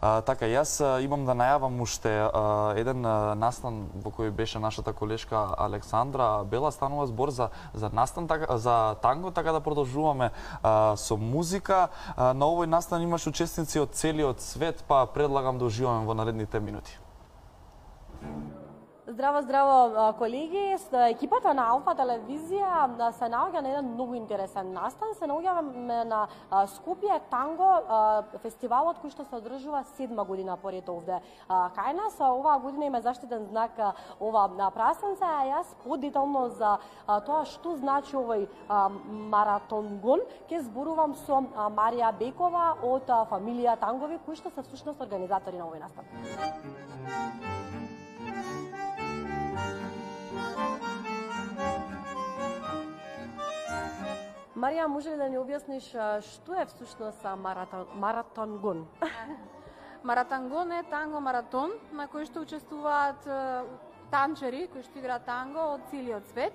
Така, јас имам да најавам уште еден настан во кој беше нашата колешка Александра Бела. Станува збор за настан, за танго, така да продолжуваме со музика. На овој настан имаш учесници од целиот свет, па предлагам да уживаме во наредните минути. Здраво, здраво, колеги. Екипата на Алфа телевизија се наоѓа на еден многу интересен настан. Се наоѓаме на Скопје Танго, фестивалот кој што се одржува 7 година поред овде кај нас. Оваа година има заштитен знак ова прасенце, а јас подетално за тоа што значи овој маратонгон ќе зборувам со Марија Бекова од фамилија Тангови, кои што се всушност организатори на овој настан. Марија, може ли да ни објасниш што е всушност маратонгон? Маратонгон е танго маратон на кој што учествуваат танчери кои што играат танго од целиот свет,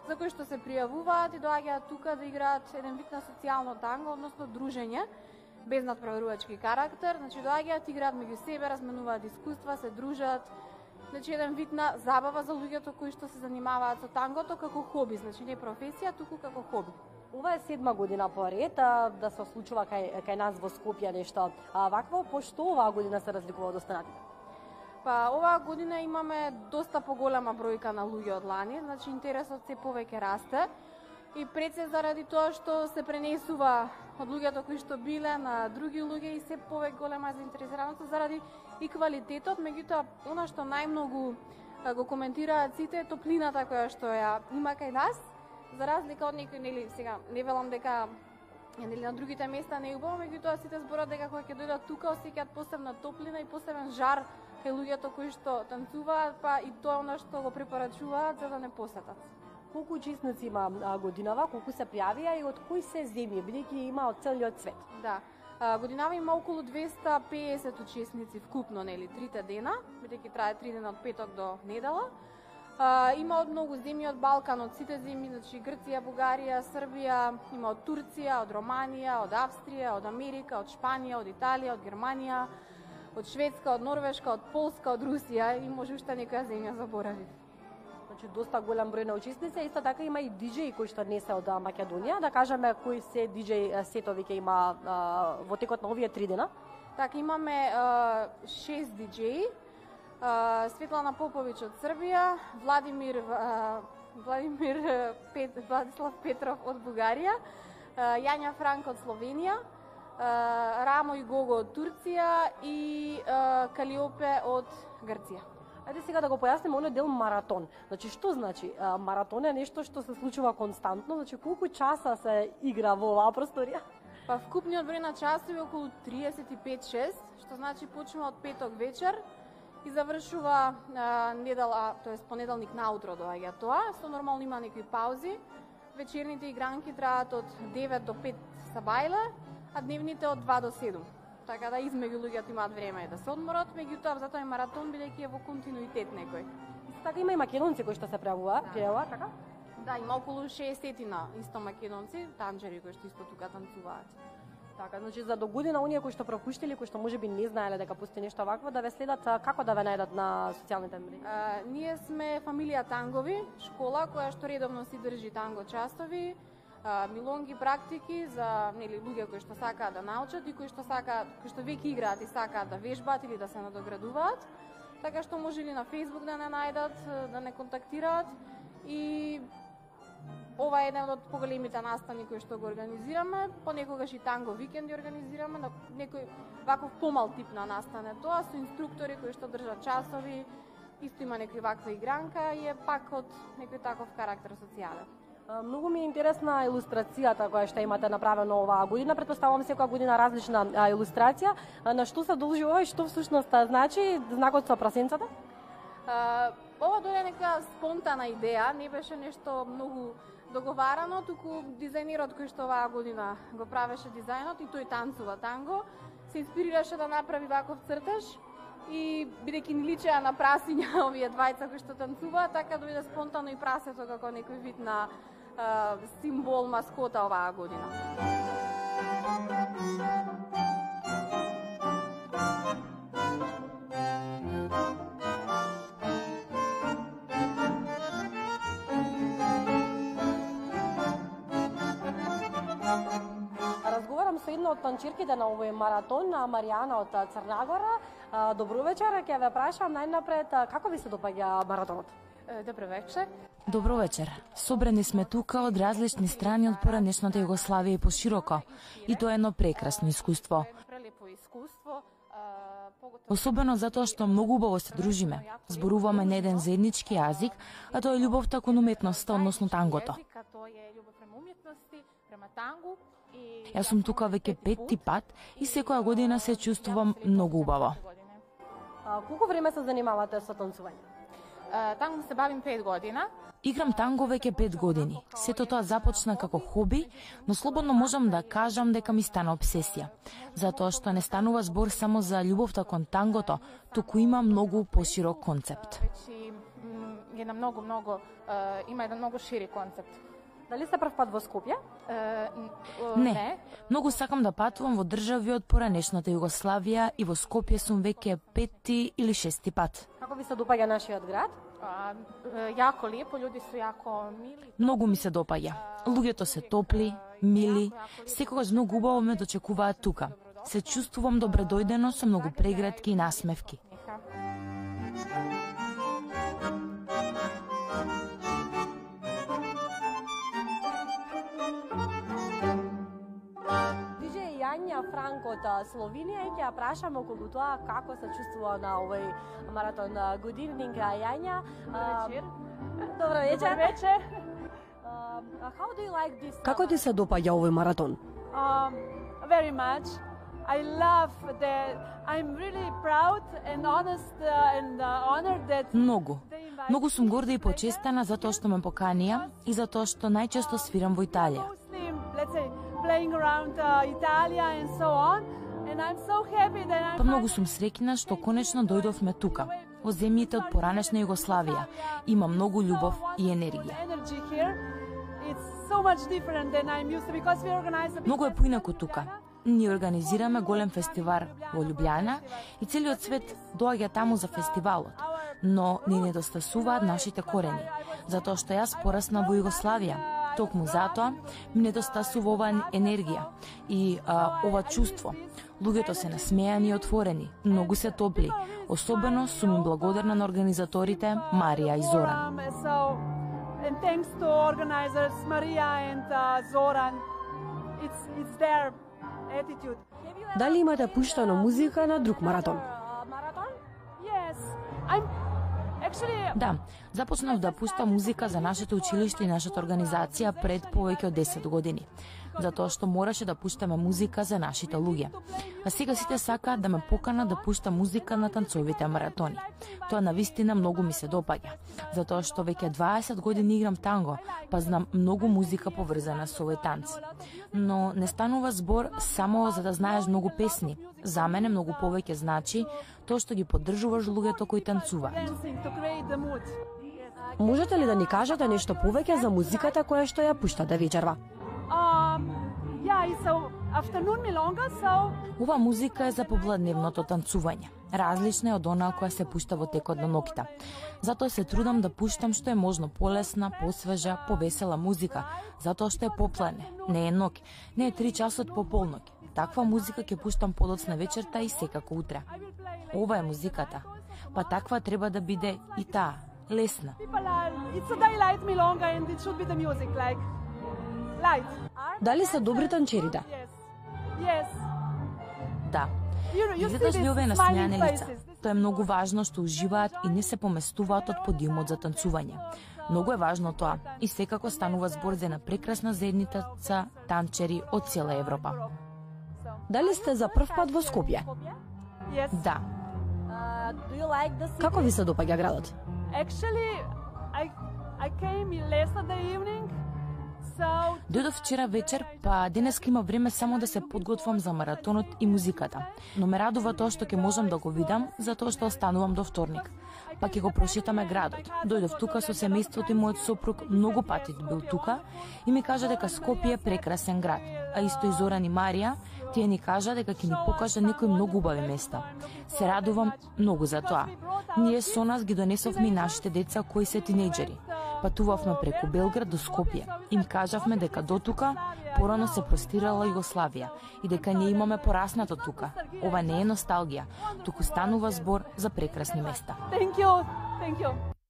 за кои што се пријавуваат и доаѓаат тука да играат еден вид на социјално танго, односно дружење без надпреварувачки карактер. Значи доаѓаат, играат меѓу себе, разменуваат искуства, се дружат. Значи еден вид на забава за луѓето кои што се занимаваат со тангото како хоби, значи не професија, туку како хоби. Ова е 7 година поред да се случува кај нас во Скопје нешто вакво, пошто оваа година се разликува од останатите? Па оваа година имаме доста поголема бројка на луѓе од лани, значи интересот се повеќе расте и пред се заради тоа што се пренесува од луѓето кои што биле на други луѓе и се повеќе голема заинтересираност заради и квалитетот, меѓутоа она што најмногу го коментираат сите е топлината која што ја има кај нас. За разлика од некои, нели, сега не велам дека нели на другите места не е убаво, меѓутоа сите зборат дека кога ќе дојдат тука осеќаат посебна топлина и посебен жар кај луѓето кои што танцуваат, па и тоа она што го препорачуваат за да не посетат. Колку учесници има годинава, колку се пријавија и од кои се земји, бидејќи има од целиот свет? Да. Годинава има околу 250 учесници вкупно, нели, 3 дена, бидејќи трае 3 дена од петок до недела. Има од многу земји од Балкан, од сите земји, значи Грција, Бугарија, Србија, има од Турција, од Романија, од Австрија, од Америка, од Шпанија, од Италија, од Германија, од Шведска, од Норвешка, од Полска, од Русија и може уште некоја земја заборавив. Значи доста голем број на учесници, исто така има и диџеи кои што не се од Македонија, да кажеме кои се диџеи сетови ќе има во текот на овие 3 дена. Така имаме 6 диџеи. Светлана Поповиќ од Србија, Владислав Петров од Бугарија, Јања Франк од Словенија, Рамо и Гого од Турција и Калиопе од Грција. Ајде сега да го појасниме оној дел маратон. Значи што значи? Маратон е нешто што се случува константно, значи колку часа се игра во оваа просторија? Па вкупниот број на часови е околу 35-6, што значи почнува од петок вечер и завршува недела, тоест понеделник наутро доаѓа тоа. Со нормално има некои паузи. Вечерните игранки траат од 9 до 5 сабајле, а дневните од 2 до 7. Така да измеѓу луѓето имаат време да се одморат, меѓутоа затоа е маратон бидејќи е во континуитет некој. Така има и македонци кои што се пријавуваат, така? Да, има околу 60 исто македонци, танџери кои што исто тука танцуваат. Така, значи за до година оние кои што пропуштиле, кои што можеби не знаеле дека постои нешто вакво, да ве следат, како да ве најдат на социјалните мрежи? Ние сме фамилија Тангови, школа која што редовно си држи танго часови, милонги практики за нели луѓе кои што сакаат да научат и кои што веќе играат и сакаат да вежбаат или да се надоградуваат. Така што може ли на Facebook да не најдат, да не контактираат и ова е еден од поголемите настани кои што го организираме, понекогаш и танго викенди организираме, на некој ваков помал тип на настан е тоа, со инструктори кои што држат часови, исто има некој ваква игранка и е пак од некој таков карактер социјален. Многу ми е интересна илустрацијата која што имате направено оваа година. Претпоставувам секоја година различна илустрација. На што се должи ова и што всушност значи знакот со прасенцата? Ова дојде нека спонтана идеја, не беше нешто многу договарано, туку дизајнерот кој што оваа година го правеше дизајнот и тој танцува танго, се инспирираше да направи ваков цртеж и бидејќи ни личеа на прасиња овие двајца кои што танцуваат, така дојде спонтано и прасето како некој вид на символ, маскота оваа година. танчирките на овој маратон, Маријана од Црнагора. Добро вечер, ќе ве прашам најнапред како ви се допаѓа маратонот? Добро вечер. Добро вечер. Собрани сме тука од различни страни од поранешната Југославија и пошироко. И тоа е едно прекрасно искуство. Особено затоа што многу убаво се дружиме. Зборуваме на еден заеднички јазик, а тоа е љубовта кон уметноста, односно тангото. Јас сум тука веќе 5-ти пат и секоја година се чувствувам многу убаво. Колку време се занимавате со танцување? Танго се бавим 5 година. Играм танго веќе 5 години. Сето тоа започна како хоби, но слободно можам да кажам дека ми стана обсесија. Затоа што не станува збор само за љубовта кон тангото, туку има многу поширок концепт. Има еден многу шири концепт. Дали сте прв пат во Скопје? Не. Многу сакам да патувам во држави од поранешната Југославија и во Скопје сум веќе 5-ти или 6-ти пат. Како ви се допаѓа нашиот град? Јако лепо, луѓе су јако мили. Многу ми се допаѓа. Луѓето се топли, мили, секогаш многу убаво ме дочекуваат тука. Се чувствувам добредојдено со многу прегратки и насмевки. Јања Франко од Словенија и ќе ја прашаме околу тоа како се чувствува на овој маратон. Good evening, Јања. Добро вечер. Вечер. How do you like this? Како ти се допаѓа овој маратон? Very much. I love that. I'm really proud and honest and honored that. Многу сум горда и почестена за тоа што ме поканија и за тоа што најчесто свирам во Италија. Let's say playing around Italia and so on. And I'm so happy that I'm. Па многу сум среќна што конечно дојдовме тука, во земјите од поранешна Југославија. Има многу љубов и енергија. Многу е поинаку тука. Ние организираме голем фестивал во Љубљана и целиот свет доаѓа таму за фестивалот. Но ни недостасуваат нашите корени, затоа што јас порасна во Југославија. Токму затоа ми недостасува оваа енергија и ова чувство. Луѓето се насмејани и отворени, многу се топли. Особено сум им благодарна на организаторите Марија и Зоран. And thanks to organizers Maria and Zoran. It's their attitude. Дали имате пуштано музика на друг маратон? Yes. Да, започнав да пуштам музика за нашето училиште и нашата организација пред повеќе од 10 години, затоа што мораше да пуштаме музика за нашите луѓе. А сега сите сакаат да ме поканат да пуштам музика на танцовите маратони. Тоа навистина многу ми се допаѓа, затоа што веќе 20 години играм танго, па знам многу музика поврзана со овој танц. Но не станува збор само за да знаеш многу песни. За мене многу повеќе значи тоа што ги поддржуваш луѓето кои танцуваат. Можете ли да ни кажете нешто повеќе за музиката која што ја пуштате вечерва? Ова музика е за попладневното танцување. Различна е од онаа која се пушта во текот на ноќта. Затоа се трудам да пуштам што е можно полесна, посвежа, повесела музика, затоа што е попладне, не е ноќ, не е 3 часот по полноќ. Таква музика ќе пуштам подоцна вечерта и секако утре. Ова е музиката. Па таква треба да биде и таа, лесна. Дали се добри танчерите? Да. Видиш ли овие насмејани лица? Тоа е многу важно што уживаат и не се поместуваат од подиумот за танцување. Многу е важно тоа и секако станува збор за една прекрасна заедница танчери од цела Европа. Дали сте за прв пат во Скопје? Да. Како ви се допаѓа градот? Дојдов вчера вечер, па денеска има време само да се подготвам за маратонот и музиката. Но ме радува тоа што ќе можам да го видам, затоа што останувам до вторник. Па ќе го прошетаме градот. Дојдов тука со семејството и мојот сопруг, многу пати бил тука и ми кажа дека Скопје е прекрасен град. А исто и Зоран и Марија, тие ни кажа дека ќе ни покажа некои многу убави места. Се радувам многу за тоа. Ние со нас ги донесовме и нашите деца кои се тинејџери. Патувавме преку Белград до Скопје. Им кажавме дека до тука порано се простирала Југославија и дека ние имаме пораснато тука. Ова не е носталгија, туку станува збор за прекрасни места. Thank you.